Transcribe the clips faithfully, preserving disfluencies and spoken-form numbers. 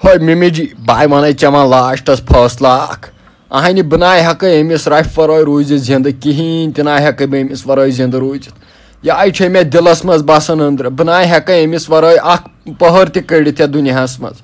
ہٲے مِمی جی، بہٕ وَنے ژےٚ وۄنۍ لاسٹَس فٲصلہٕ اَکھ۔ اَہنہِ، بہٕ نہ ہٮ۪کہٕ أمِس رَفہِ وَرٲے روٗزِتھ زِندٕ کِہیٖنۍ، تہِ نہ ہٮ۪کہٕ بہٕ أمِس وَرٲے زِندٕ روٗزِتھ۔ یہِ آے چھے مےٚ دِلَس منٛز بَسان أنٛدرٕ، بہٕ نہ ہٮ۪کہٕ أمِس وَرٲے اَکھ پٔہر تہِ کٔڑِتھ یَتھ دُنیاہَس منٛز۔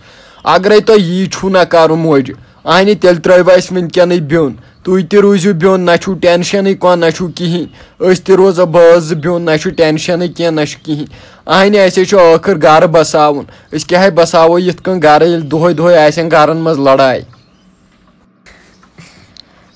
اگرے تۄہہِ یی چھُو نہ کَرُن موجہِ، اَہنہِ، تیٚلہِ ترٛٲوِو اَسہِ وٕنکٮ۪نٕے بیوٚن۔ تُہۍ تہِ روٗزِو بیوٚن، نہ چھُو ٹٮ۪نشَنٕے کانٛہہ، نہ چھُو کِہیٖنۍ۔ أسۍ تہِ روزو بٲژ زٕ بیوٚن، نہ چھُ ٹٮ۪نشَنٕے کینٛہہ، نہ چھُ کِہیٖنۍ۔ اَہنہِ، اَسے چھُ ٲخٕر گَرٕ بَساوُن۔ أسۍ کیٛاہ ہے بَساوو یِتھ کٔنۍ گَرٕ، ییٚلہِ دۄہَے دۄہَے آسن گَرَن منٛز لَڑاے؟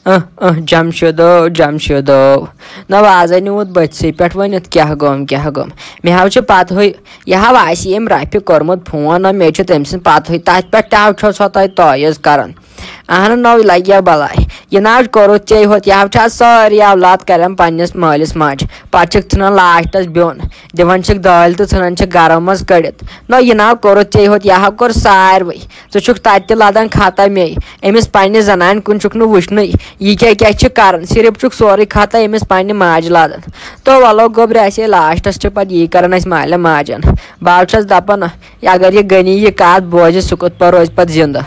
اہ اہ، جمشیدو، جمشیدو، نہ وازے نیوٗت بٔتھسٕے پٮ۪ٹھ ؤنِتھ کیٛاہ گوٚم، کیٛاہ گوٚم؟ مےٚ حظ چھُ پَتہٕے، یہِ حظ آسہِ ییٚمۍ رَفہِ کوٚرمُت فون، نہ مےٚ چھُ تٔمۍ سٕنٛدِ پَتہٕے، تَتھ پٮ۪ٹھ تہِ حظ چھو سا تۄہہِ تعویٖذ کَران؟ اہن نو لگیا بلاے۔ یہ ناو کوٚرُتھ ژےٚ ہوت، یہ چھا سٲری اولاد کران پننس مٲلِس ماجہِ۔ پتہٕ چھِکھ ژھٕنان لاسٹس بیوٚن، دِوان چھِکھ دٲلۍ تہٕ ژھٕنان چھِکھ گرو منٛز کٔڑِتھ۔ نو یہ ناو کوٚرُتھ ژےٚ ہوت، یہ کوٚر ساروٕے۔ ژٕ چھُکھ تتہِ تہِ لدان خطا مے، أمِس پننہِ زنانہِ کُن چھُکھ نہٕ وٕچھنٕے۔ یہ کیٛاہ کیٛاہ چھِ کران، صرف چھُکھ سورُے خطا أمِس پننہِ ماجہِ لدان۔ تو ولو گوٚبرِ، اسے لاسٹس چھِ پتہٕ یی کران اسہِ مالہِ ماجن۔ بہٕ چھس دپان، اگر یہ غنی یہ کتھ بوزِ، سُہ کِتھ پٲٹھۍ روزِ پتہٕ زندٕ؟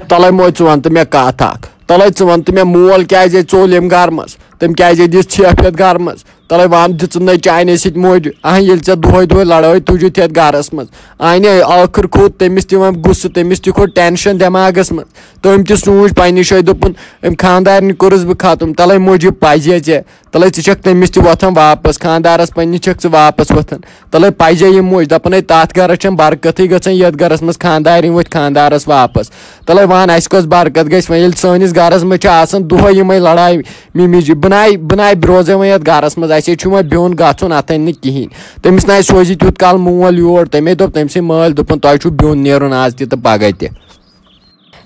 تلے موج، ژٕ وَن تہٕ مےٚ کَتھ اَکھ۔ تلے ژٕ وَن تہٕ مےٚ، مول کیٛازِ ژوٚل ییٚمہِ گرٕ منٛز؟ تٔمۍ کیٛازِ دِژ ژھیٚپھ یَتھ گرٕ منٛز؟ تلے وَن، دِژٕن نے چانہِ سۭتۍ موج؟ اہن، ییٚلہِ ژےٚ دۄہے دۄہے لڑٲے تُجُتھ یَتھ گرس منٛز۔ اہنہِ، ٲخٕر کھوٚت تٔمِس تہِ وۄنۍ غصہٕ، تٔمِس تہِ کھوٚت ٹینشن دٮ۪ماغس منٛز۔ تٔمۍ تہِ سوٗنچ پننہِ جایہِ، دوٚپُن، أمۍ خاندارنہِ کوٚرُس بہٕ ختم، تلے موجی پزے ژےٚ۔ تلے ژٕ چھکھ تٔمِس تہِ وۄتھان واپس، خاندارس پننہِ چھکھ ژٕ واپس وۄتھان۔ تلے پزے یہِ موج، دپان ہے تتھ گرس چھنہٕ برکتٕے گژھان، یتھ گرس منٛز خاندارِنۍ وۄتھۍ خاندارس واپس۔ تلے وان، اسہِ کۄس برکت گژھِ وۄنۍ، ییٚلہِ سٲنِس گرس منٛز چھِ آسان دۄہے یِمے لڑایہِ مِمی جی؟ بہٕ ناے، بہٕ ناے روزے وۄنۍ یتھ گرس منٛز، اسے چھُ وۄنۍ بیوٚن گژھُن، اتھے نہٕ کِہینۍ۔ تٔمِس ناے سوزِ تیوٗت کال مول یور، تمے دوٚپ تٔمۍ سٕنٛدۍ مٲلۍ، دوٚپُن، تۄہہِ چھُو بیوٚن نیرُن آز تہِ تہٕ پگاہ تہِ۔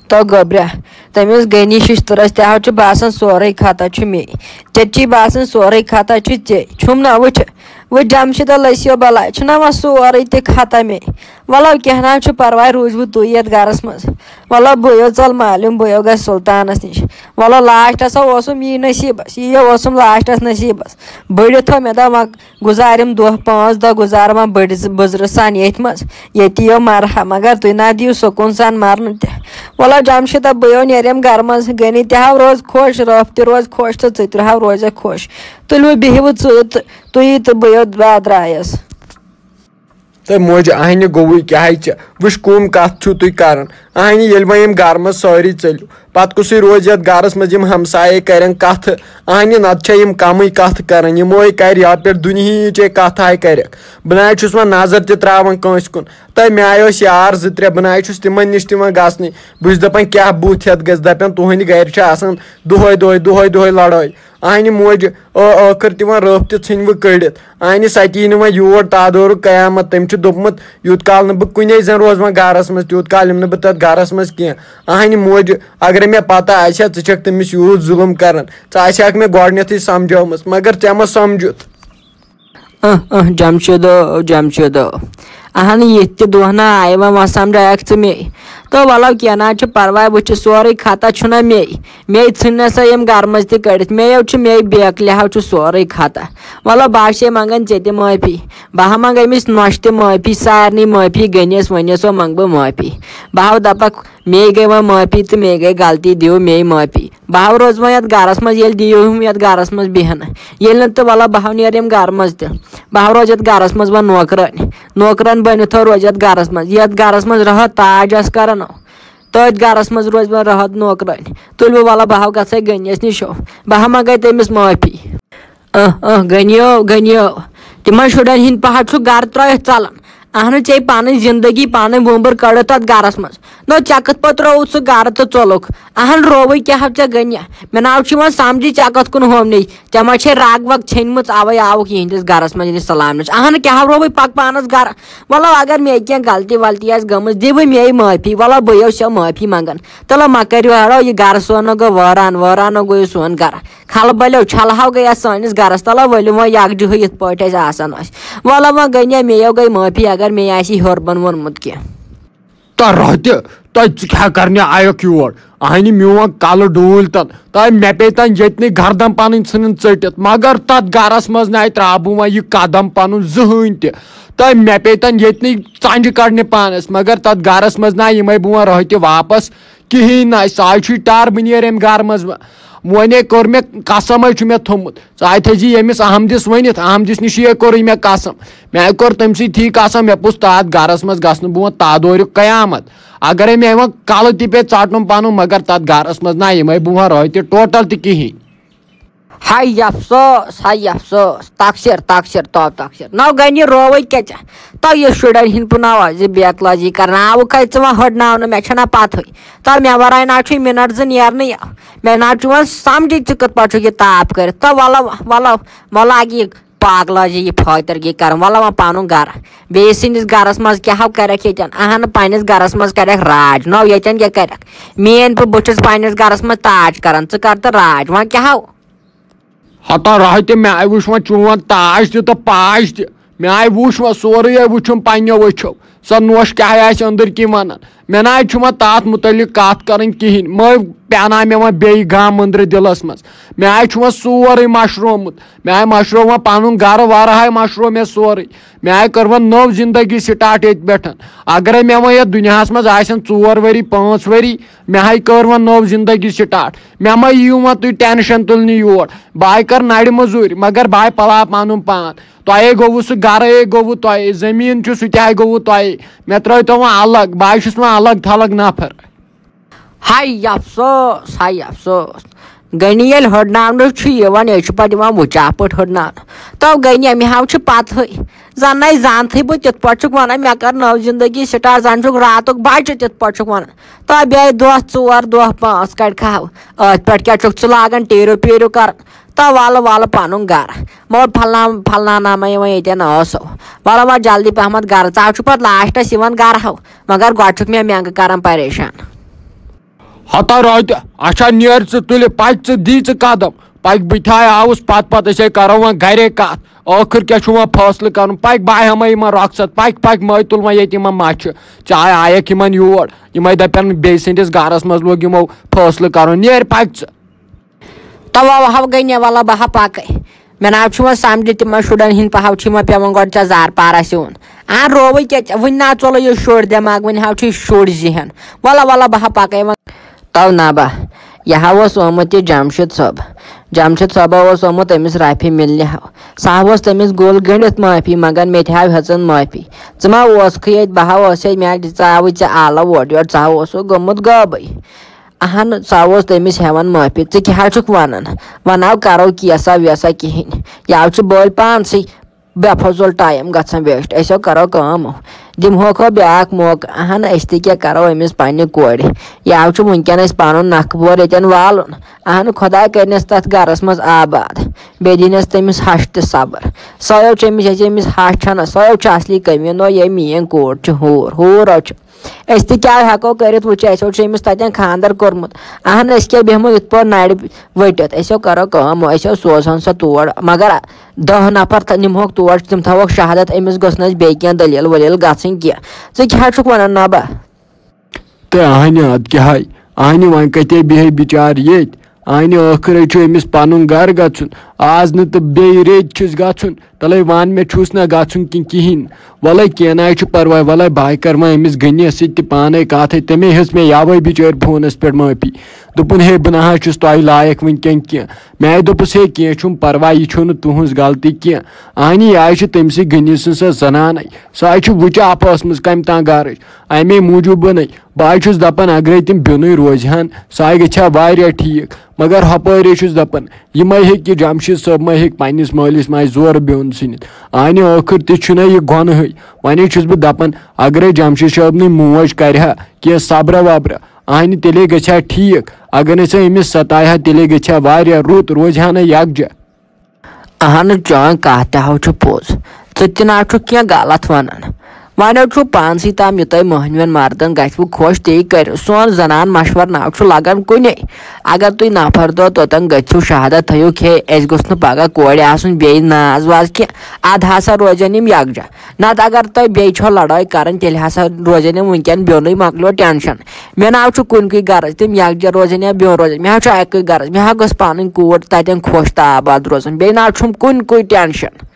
تو گوٚبرا، تٔمِس غنی ششتٕرس تہِ حظ چھُ باسان سورُے خطا چھُ مے۔ ژےٚ تہِ چھُے باسان سورُے خطا چھُ ژےٚ۔ چھُم نہ وٕچھ، وٕچھ جمشیدہ لٔسیو بلاے، چھُنہ وۄنۍ سورُے تہِ خطا مے۔ وَلو کینٛہہ نہ حظ چھُ پرواے، روٗزِوٕ تُہۍ یَتھ گرس منٛز۔ وَلو بہٕ یو ژَل مالیُن، بہٕ یو گژھٕ سلطانس نِش۔ وَلو لاسٹس ہا اوسُم یی نصیٖبس، یی اوسُم لاسٹس نصیٖبس۔ بٔڑِتھ ہو مےٚ دوٚپ وۄنۍ گُزارِم دۄہ پانٛژھ دۄہ گُزارٕ وۄنۍ بٔڑِس بٕزرٕ سان ییٚتھۍ منٛز، ییٚتی یو مرحا، مگر تُہۍ نہ دِیِو سکوٗن سان مرنہٕ تہِ۔ وَلہٕ جمشیٖدہ، بہٕ یو نیریم گرٕ منٛز، غنی تہِ ہاو روزِ خۄش، رٲف تہِ روزِ خۄش تہٕ ژٕ تہِ ہاو روزکھ خۄش۔ تُلِو بِہِو ژٕ تہٕ تُہی تہٕ بہٕ یو بہٕ درٛایس۔ تہٕ موج اہنہِ گوٚوُے کیٛاہ ژےٚ؟ وٕچھ کُم کتھ چھِو تُہۍ کران۔ اہنہِ ییٚلہِ وۄنۍ یِم گرٕ منٛز سٲری ژٔلِو، پتہٕ کُسٕے روزِ یتھ گرس منٛز؟ یِم ہمسایے کرن کتھٕ؟ اہنہِ نتہٕ چھےٚ یِم کمٕے کتھٕ کران، یِموے کرِ یپٲرۍ دُنہِچے کتھٕ آے کرکھ۔ بہٕ نہ چھُس وۄنۍ نظر تہِ تراوان کٲنٛسہِ کُن۔ تہٕ مےٚ آے ٲسۍ یار زٕ ترٛےٚ، بہٕ نہ چھُس تِمن نِش تہِ وۄنۍ گژھنٕے۔ بہٕ چھُس دپان کیٛاہ بُتھ ہٮ۪تھ گژھِ، دپن تُہنٛدِ گرِ چھِ آسان دۄہے دۄہے، دۄہے دۄہے لڑٲے۔ اہنہِ موج، ٲ-، ٲخٕر تہِ وۄنۍ رٲف تہِ ژھٕنۍ وٕ کٔڑِتھ۔ اہنہِ سۄ تہِ یی نہٕ وۄنۍ یور، تادورُک قیامت۔ تٔمۍ چھُ دوٚپمُت، یوٗت کال نہٕ بہٕ کُنے زَن روزٕ وۄنۍ گرس منٛز، تیوٗت کال یِمہٕ نہٕ بہٕ تتھ گرس منٛز کینٛہہ۔ اہنہِ موج، اگرے مےٚ پتہ آسہِ ہا ژٕ چھکھ تٔمِس یوٗت ظُلُم کران، ژٕ آسہِ ہاکھ مےٚ گۄڈٕنیتھٕے سمجھٲومٕژ، مگر ژےٚ ما سمجھُتھ؟ اہ اہ، جمشیدو، جمشیدو۔ اہن، یِتھ تہِ دۄہ نہ آیہِ وۄنۍ، وۄنۍ سمجھایکھ ژٕ مے۔ تو ولو کینٛہہ نہ حظ چھُ پرواے، وۄنۍ چھُ سورُے خطا چھُنہ مے۔ مے ژھٕنۍ نہ سا یِم گرٕ منٛز تہِ کٔڑِتھ، مے یو چھُ مے بیکلہِ ہاو چھُ سورُے خطا۔ ولو بہٕ حظ چھے منٛگان ژےٚ تہِ معٲفی۔ بہٕ ہا منٛگہٕ أمِس نۄشہِ تہِ معٲفی، سارنٕے معٲفی، غنیس ونیس ہو منٛگہٕ بہٕ معٲفی۔ بہٕ ہاو دپکھ، مے گٔے وۄنۍ معٲفی تہٕ مے گٔے غلطی، دِیِو مے معٲفی۔ بہٕ ہاو روزٕ وۄنۍ یتھ گرس منٛز، ییٚلہِ دِیِو ہُم یتھ گرس منٛز بیہنہٕ۔ ییٚلہِ نہٕ تہٕ ولو بہٕ ہاو نیرٕ ییٚمہِ گرٕ منٛز تہِ۔ بہٕ ہاو روزٕ یتھ گرس منٛز وۄنۍ نوکرٲنۍ۔ نوکرٲنۍ بٔنِتھ ہو روزٕ یتھ گرس منٛز۔ یتھ گرس منٛز رہو تاج آسہٕ کران۔ تٔتھۍ گرس منٛز روزِ وۄنۍ رہو نوکرٲنۍ۔ تُلِو ولو بہٕ ہاو گژھے غنیس نِش ہو۔ بہٕ ہا منٛگے تٔمِس معٲفی۔ اہ اہ، غنیو، غنیو۔ تِمن شُرٮ۪ن ہِنٛدۍ پہر چھُ گرٕ ترٲوِتھ ژلان۔ اہنُو، ژےٚ پنٕنۍ زندگی، پنٕنۍ وُمبٕر کٔڑٕتھ تتھ گرس منٛز۔ نو، ژےٚ کِتھ پٲٹھۍ ترٛووُتھ سُہ گرٕ تہٕ ژوٚلُکھ؟ اہن، رووٕے کیٛاہ ہو ژےٚ غنیہ؟ مےٚ ناو چھُ یِوان سمجھی، ژےٚ کتھ کُن ہومنے؟ ژےٚ ما چھے رگ وگ ژھیٚنمٕژ، اوے آوُکھ یِہنٛدِس گرس منٛز ییٚلہِ سلام نش۔ اہن، کیٛاہ ہو رووٕے، پک پانس گرٕ۔ ولو، اگر مے کینٛہہ غلطی ولطی آسہِ گٔمٕژ، دِ وۄنۍ مے معٲفی۔ ولو، بہٕ یو سۄ معٲفی منٛگان۔ تلو، مہ کٔرِو ہڑو، یہِ گرٕ سون نہ گوٚو وٲران، وٲران نہ گوٚو یہِ سون گرٕ۔ کھلہٕ بلیو چھلہٕ ہاو گٔیس سٲنِس گرس۔ تلو ؤلِو وۄنۍ یکجہٕے یِتھ پٲٹھۍ أسۍ آسان ٲسۍ۔ وَلہٕ وۄنۍ گٔے نے، مےٚ یو گٔے معٲفی اگر مےٚ آسہِ ہیوٚر بۄن ووٚنمُت کینٛہہ۔ تہٕ رۄہتہِ، تۄہہِ ژٕ کیٛاہ کرنہِ آیکھ یور؟ اہنہِ میون کلہٕ ڈوٗلۍ تن، تۄہہِ مےٚ پیٚیہِ تن ییٚتنٕے گردن پنٕنۍ ژھٕنٕنۍ ژٔٹِتھ، مگر تتھ گرس منٛز نَے ترٛاو بہٕ وۄنۍ یہِ قدم پنُن زٕہٕنۍ تہِ۔ تہٕ مےٚ پیٚیہِ تَن ییٚتنٕے ژَنٛجہِ کَڑنہِ پانَس، مگر تَتھ گَرَس منٛز نہ یِمَے بہٕ وۄنۍ رٲہہِ تہِ واپَس کِہیٖنۍ نہ۔ سُہ آے چھُے ٹَر، بہٕ نیرٕ اَمہِ گَرٕ منٛز وۄنۍ۔ وۄنۍ ہے کوٚر مےٚ قسمَے چھُ مےٚ تھوٚمُت، ژٕ آے تھٲیزِ ییٚمِس احمدِس ؤنِتھ، احمدِس نِش ہے کوٚرُے مےٚ قسم۔ مےٚ کوٚر تٔمۍ سٕے تھی قسم، مےٚ پوٚز تَتھ گَرَس منٛز گژھٕ نہٕ بہٕ وۄنۍ تَتھ دورِ قیامت۔ اگرے مےٚ وۄنۍ کلہٕ تہِ پیٚیہِ ژٹُن پنُن، مگر تتھ گرس منٛز نہ یِمے بہٕ وۄنۍ رٲتہِ ٹوٹل تہِ کِہینۍ۔ ہاے افسوس، ہاے افسوس، تقصیر، تقصیر، تو تقصیر۔ نو گنی رووٕے کیٛاہ ژےٚ؟ تو یہِ شُرٮ۪ن ہِنٛدۍ پٲٹھۍ ناو زِ بے اخلٲقی کرناوُکھ ہے ژٕ وۄنۍ ہٕڑناونہٕ، مےٚ چھَنہ پَتہٕے۔ تو مےٚ وَرٲے نہ چھُے مِنٹ زٕ نیرنٕے۔ مےٚ نہ چھُ وۄنۍ سَمجھی ژٕ کِتھ پٲٹھۍ چھُکھ یہِ تاپھ کٔرِتھ۔ تو وَلہٕ، وَلہٕ، وَلہٕ اَکہِ یہِ پاگلٲزی، یہِ فٲطرگی کران۔ وَلہٕ وۄنۍ پَنُن گرٕ۔ بیٚیہِ سٕنٛدِس گرس منٛز کیٛاہ ہو کرکھ ییٚتٮ۪ن؟ اہن، پننِس گرس منٛز کرکھ راج۔ نو ییٚتٮ۪ن کیٛاہ کرکھ؟ میٲنۍ بہٕ، بہٕ چھُس پننِس گرس منٛز تاج کران، ژٕ کر تہٕ راج۔ وۄنۍ کیٛاہ ہو؟ ہتا راہ تہِ، مےٚ آے وٕچھ وۄنۍ چون تاج تہِ تہٕ پاج تہِ۔ مےٚ آے وٕچھ وۄنۍ سورُے، آے وٕچھُم پننیو أچھو۔ سۄ نوش کیٛاہ آسہِ أنٛدٕرۍ کِنۍ ونان۔ مےٚ نہ آے چھُ وۄنۍ تتھ مُتعلق کتھ کرٕنۍ کِہینۍ۔ مہ پیاناو مےٚ وۄنۍ بیٚیہِ غم أنٛدرٕ دِلس منٛز۔ مےٚ آے چھُ وۄنۍ سورُے مشرومُت۔ مےٚ آے مشروو وۄنۍ پنُن گرٕ ورٕ آے مشروو مےٚ سورُے۔ مےٚ آے کٔر وۄنۍ نٔو زندگی سٹارٹ ییٚتہِ پٮ۪ٹھ۔ اگرے مےٚ وۄنۍ یتھ دُنیاہس منٛز آسن ژور ؤری، پانٛژھ ؤری، مےٚ ہاے کٔر وۄنۍ نٔو زندگی سٹارٹ۔ مےٚ مہ یِیِو وۄنۍ تُہۍ ٹینشن تُلنہِ یور۔ بہٕ آے کر نرِ مٔزوٗرۍ، مگر بہٕ آے پلاو پنُن پان۔ تۄہے گوٚوُ سُہ گرے گوٚوُ تۄہے، زٔمیٖن چھُ سُہ تہِ ہاے گوٚوُ تۄہے۔ مےٚ ترٲوۍ تو وۄنۍ الگ، بہٕ ہاے چھُس وۄنۍ الگ تھلگ نفر۔ ہاے افسوس، ہاے افسوس۔ گنی ییٚلہِ ہٕڑناونہٕ چھُ یِوان، یہِ چھُ پتہٕ یِوان وُچاپٲٹھۍ ہٕڑناونہٕ۔ تو گنی، مےٚ ہاو چھُ پتہٕے۔ زن نَے زانتھٕے بہٕ تِتھ پٲٹھۍ چھُکھ ونان، مےٚ کر نٔو زندگی سٹارٹ، زن چھُکھ راتُک بچہِ تِتھ پٲٹھۍ چھُکھ ونان۔ تو بیٚیہِ دۄہ ژور، دۄہ پانٛژھ کڑِ کھاو۔ أتھۍ پٮ۪ٹھ کیٛاہ چھُکھ ژٕ لاگان ٹیٖرِو پیٖرِو کرُن؟ تو وَلہٕ وَلہٕ پَنُن گَرٕ۔ مگر پھلنا پھلنا نامہ یِوان ییٚتٮ۪ن ٲسو۔ وَلہٕ وَلہٕ جلدی پَہمَتھ گَرٕ۔ ژٕ ہا چھُکھ پَتہٕ لاسٹَس یِوان گَرٕ ہو، مگر گۄڈٕ چھُکھ مےٚ مٮ۪نٛگہٕ کَران پریشان۔ ہتا راتہِ، اچھا نیر ژٕ تُلہِ پَکہِ، ژٕ دی ژٕ قدم۔ پَکہِ بہٕ تہِ آوُس پَتہٕ پَتہٕ، أسۍ ہے کَرو وۄنۍ گَرے کَتھ۔ ٲخٕر کیٛاہ چھُ وۄنۍ فٲصلہٕ کَرُن؟ پَکہِ بہٕ ہٮ۪مَے یِمَن رۄخصت، پَکہِ پَکہِ مَے تُل وۄنۍ ییٚتہِ یِمَن مَچھِ۔ ژٕ آے آیَکھ یِمَن یور، یِمَے دَپَن بیٚیہِ سٕنٛدِس گَرَس منٛز لوٚگ یِمو فٲصلہٕ کَرُن، نیر پَکہِ ژٕ۔ تَوَے ہا گٔے نہ وَلہٕ بہٕ ہا پَکَے۔ مےٚ نہ حظ چھُ وۄنۍ سَمجِتھ تِمَن شُرٮ۪ن ہِنٛدۍ پَہَو چھِ یِمَن پٮ۪وان گۄڈٕ ژےٚ زار پارَس یُن۔ آ، رووٕے کیٛاہ ژےٚ؟ وٕنہِ نہ ژوٚلُے یہِ شُر دٮ۪ماغ، وٕنہِ ہا چھُے شُر ذہن۔ وَلہٕ وَلہٕ بہٕ ہا پَکَے وۄنۍ۔ تو نہ بہٕ، یہِ ہا اوس آمُت یہِ جمشید صٲب۔ جمشید صٲبہ اوس آمُت أمِس رافی مِلنہِ ہا۔ سُہ ہا اوس تٔمِس گوٚل گٔنٛڈِتھ معٲفی منٛگان، مےٚ تہِ ہا ہٮ۪ژٕن معٲفی۔ ژٕ ما اوسکھٕے ییٚتہِ، بہٕ ہا اوسے، مےٚ ہا دِژ ژٕ آوٕے ژےٚ آلہٕ اورٕ یورٕ، ژٕ ہا اوسُکھ گوٚمُت غٲبٕے۔ اہن، سُہ اوس تٔمِس ہٮ۪وان معٲفی۔ ژٕ کیٛاہ حظ چھُکھ وَنان؟ وۄنۍ نہ کرو کیسا ویسا کِہیٖنۍ۔ یہِ آو چھُ بٔلۍ پانسٕے بے فضول ٹایم گژھان ویسٹ۔ أسۍ ہو کرو کٲم، دِمہوکھ ہو بیٛاکھ موقعہٕ۔ اہن، أسۍ تہِ کیٛاہ کرو أمِس پننہِ کورِ؟ یہِ آو چھُ وٕنکٮ۪ن اَسہِ پنُن نکھٕ بور ییٚتٮ۪ن والُن۔ اہن، خۄداے کٔرِنَس تَتھ گرس منٛز آباد۔ بیٚیہِ دِنَس تٔمِس ہَش تہِ صبر۔ سۄ ہو چھِ أمِس، یۄس أمِس ہَش چھَنہ، سۄ ہو چھِ اصلی کٔمی۔ نو، یہِ میٛٲنۍ کوٗر چھِ ہوٗر، ہوٗر ہو چھِ۔ أسۍ تہِ کیٛاہ ہٮ۪کو کٔرِتھ؟ وٕچھ، اَسہِ ہو چھُ أمِس تَتٮ۪ن خانٛدر کوٚرمُت۔ اہن، أسۍ کیٛاہ بیٚہمو یِتھ پٲٹھۍ نَرِ ؤٹِتھ؟ أسۍ ہو کَرو کٲم، أسۍ ہو سوزہون سۄ تور۔ مگر دَہ نفر تھا-، نِمہوکھ تور، تِم تھاوہوکھ شہادت، أمِس گٔژھ نہٕ اَسہِ بیٚیہِ کینٛہہ دٔلیٖل ؤلیٖل گژھٕنۍ کینٛہہ۔ ژٕ کیٛاہ چھُکھ وَنان نبا؟ تہٕ اہنہِ اَدٕ کیٛاہ ہاے؟ اہنہِ وۄنۍ کَتے بیٚہہِ بِچار ییٚتۍ؟ اہنہِ ٲخٕر ہے چھُ أمِس پَنُن گَرٕ گژھُن۔ آز نہٕ تہٕ بیٚیہِ ریٚتۍ چھُس گژھُن۔ تَلَے وَن، مےٚ چھُس نہ گژھُن کِنہٕ کِہیٖنۍ۔ وَلَے کینٛہہ نہ حظ چھُ پَرواے، وَلَے بہٕ ہا کَرٕ وۄنۍ أمِس غنیَس سۭتۍ تہِ پانَے کَتھ۔ ہے، تٔمے ہیٚژ مےٚ یَوَے بِچٲرۍ فونَس پٮ۪ٹھ معٲفی۔ دوٚپُن، ہے، بہٕ نہ حظ چھُس تۄہہِ لایق وٕنکٮ۪ن کینٛہہ۔ مےٚ آے دوٚپُس، ہے، کینٛہہ چھُنہٕ پَرواے، یہِ چھُنہٕ تُہٕنٛز غلطی کینٛہہ۔ اہنہِ، یہِ حظ چھِ تٔمۍ سٕے غنی سٕنٛز سۄ زَنانَے۔ سۄ حظ چھِ وٕچاپھ ٲسمٕژ کَمہِ تام گَرٕچ۔ اَمے موٗجوٗب بَنے۔ بہٕ حظ چھُس دَپان، اگرے تِم بیوٚنُے روزِ ہن، سُہ حظ گژھِ ہا واریاہ ٹھیٖک۔ مگر ہُپٲرۍ حظ چھُس دَپان، یِمَے ہیٚکہِ جمشید صٲب ما ہیٚکہِ پنٛنِس مٲلِس ماجہِ زورٕ بیوٚن ژھٕنِتھ؟ اہنہِ، ٲخٕر تہِ چھُنہ یہِ گۄنہٕے۔ وۄنۍ حظ چھُس بہٕ دَپان، اگرے جمشید صٲبنٕے موج کَرِ ہا کینٛہہ صبرا وبرا، اہنہِ، تیٚلے گژھِ ہا ٹھیٖک۔ اگر نہٕ سۄ أمِس ستایہِ ہا، تیٚلے گژھِ ہا واریاہ رُت، روزِ ہا نہ یکجا۔ اہن، چٲنۍ کتھ تہِ ہو چھُ پوٚز۔ ژٕ تہِ نہ چھُکھ کینٛہہ غلط ونان۔ وۄنۍ حظ چھُ پانسٕے تام، یہِ تۄہہِ مٔہنوٮ۪ن مردن گژھِوٕ خۄش، تی کٔرِو۔ سون زنان مشور نہ چھُ لگان کُنے۔ اگر تُہۍ نفر دۄہ توٚتن گٔژھِو، شہادت تھٲیِو کھے، اَسہِ گوٚژھ نہٕ پگاہ کورِ آسُن بیٚیہِ ناز واز کینٛہہ۔ ادٕ ہسا روزن یِم یکجا۔ نتہٕ اگر تۄہہِ بیٚیہِ چھو لڑٲے کرٕنۍ، تیٚلہِ ہسا روزن یِم وٕنکٮ۪ن بیوٚنُے، مۄکلیو ٹینشن۔ مےٚ نہ حظ چھُ کُنہِ کُے غرض، تِم یکجا روزن یا بیوٚن روزن، مےٚ حظ چھُ اَکُے غرض، مےٚ حظ گٔژھ پنٕنۍ کوٗر تتٮ۪ن خۄش تہٕ آباد روزٕنۍ، بیٚیہِ نہ حظ چھُم کُنہِ کُے ٹینشن۔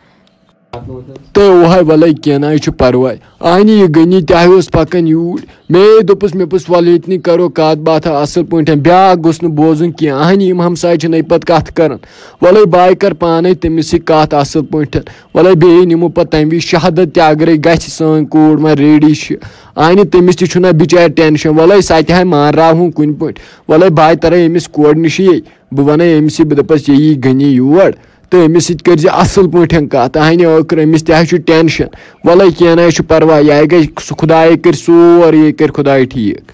تہٕ اوہے، وَلَے کینٛہہ نہ حظ چھُ پَرواے۔ اَہنہِ یہِ غنی تہِ حظ اوس پَکان یوٗرۍ۔ مےٚ دوٚپُس، مےٚ پوٚس، وَلہٕ ییٚتہِ نٕے کَرو کَتھ باتھا اَصٕل پٲٹھۍ، بیٛاکھ گوٚژھ نہٕ بوزُن کینٛہہ۔ اَہنہِ یِم ہمساے چھِنَے پَتہٕ کَتھ کَران۔ وَلَے بہٕ کَرٕ پانَے تٔمِس سۭتۍ کَتھ اَصٕل پٲٹھۍ۔ وَلَے بیٚیہِ نِمو پَتہٕ تَمہِ وِزِ شہادت تہِ، اگرَے گژھِ سٲنۍ کوٗر وۄنۍ ریڈی چھِ۔ اَہنہِ تٔمِس تہِ چھُنہ بِچارِ ٹٮ۪نشَن، وَلَے سۄ تہِ ہاے مانراوہون کُنہِ پٲٹھۍ۔ وَلَے بہٕ ہاے تَرَے أمِس کورِ نِشی، بہٕ وَنَے أمِس یہِ، بہٕ دَپَس یہِ یی غنی یور۔ تہٕ أمِس سۭتۍ کٔرۍ زِ اَصٕل پٲٹھۍ کَتھ۔ اَہنہِ ٲخٕر أمِس تہِ حظ چھُ ٹٮ۪نشَن۔ وَلَے کینٛہہ نہ حظ چھُ پَرواے، یہِ گژھِ سُہ خۄدایے کَرِ سورُے، یہِ کَرِ خۄداے ٹھیٖک۔